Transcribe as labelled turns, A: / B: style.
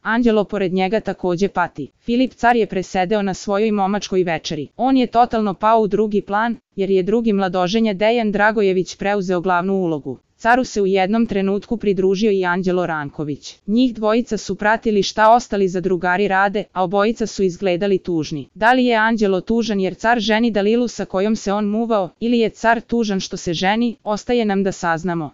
A: Anđelo pored njega takođe pati. Filip car je presedeo na svojoj momačkoj večeri. On je totalno pao u drugi plan, jer je drugi mladoženja Dejan Dragojević preuzeo glavnu ulogu. Caru se u jednom trenutku pridružio i Anđelo Ranković. Njih dvojica su pratili šta ostali zadrugari rade, a obojica su izgledali tužni. Da li je Anđelo tužan jer car ženi Dalilu sa kojom se on muvao, ili je car tužan što se ženi, ostaje nam da saznamo.